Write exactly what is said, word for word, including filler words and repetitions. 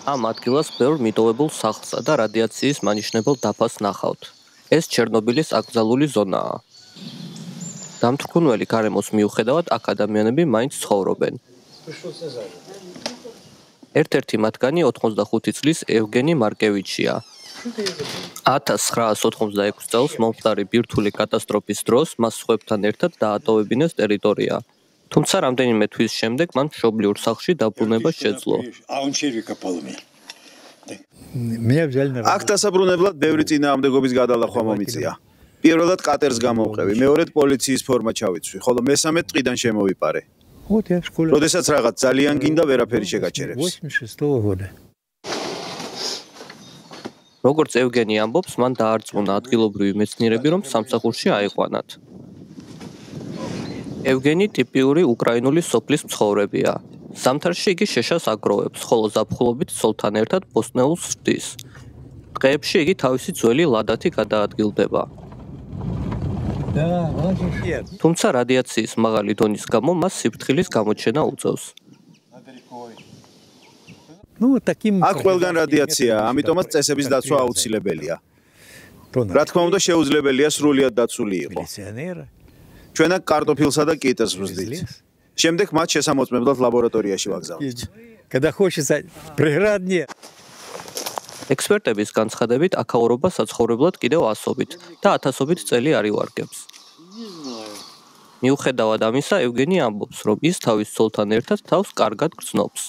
ამ ადგილას ბევრ მიტოვებულ სახლსა და რადიაციის მანიშნებელ დაფას ნახავთ. ეს ჩერნობილის აკრძალული ზონაა. დამთვრქუნველი გარემოს მიუხედავად აქ ადამიანები მაინც ცხოვრობენ. ერთ-ერთი მათგანი ოთხმოცდახუთი წლის ევგენი მარკევიჩია. ათას ცხრაას ოთხმოცდაექვსი წელს მომხდარი ბირთვული კატასტროფის დროს მას სხვებთან ერთად დაატოვებინეს ტერიტორია. თუმცა რამდენიმე თვის შემდეგ მან მშობლიურ სახლში დაბრუნება შეძლო. აქ დასაბრუნებლად ბევრი წინააღმდეგობის გადალახვა მომიწია. პირველად კატერს გამოვყევი, მეორედ პოლიციის ფორმა ჩავიცვი, ხოლო მესამედ ტყიდან შემოვიპარე. როდესაც რაღაც ძალიან გინდა, ვერაფერი შეგაჩერებს. როგორც ევგენი ამბობს, მან დაარწმუნა ადგილობრივი მეცნიერები, რომ სამსახურში აიყვანათ. ევგენი ტიპიური უკრაინული სოფლის მცხოვრებია. ზამთარში იგი შეშას აგროვებს, ხოლო ზაფხულობით ცოლთან ერთად ბოსტნეულს სვდის. დღეებში იგი თავისი ძველი ლადათი გადაადგილდება. თუმცა რადიაციის მაღალი დონის გამო მას სიფრთხილის გამოჩენა უწევს. აქ ყველგან რადიაციაა, ამიტომაც წესების დაცვა აუცილებელია. რა თქმა უნდა, შეუძლებელია სრულიად დაცული იყო. ჩვენ აქ კარტოფილსა და კიტას ვზდით. შემდეგ მათ შესამოწმებლად ლაბორატორიაში ვაგზავნით. ექსპერტების განცხადებით, აქაურობა საცხოვრებლად კიდევ ასობით და ათასობით წელი არ ივარგებს. მიუხედავად ამისა, ევგენი ამბობს, რომ ის თავის ცოლთან ერთად თავს კარგად გრძნობს.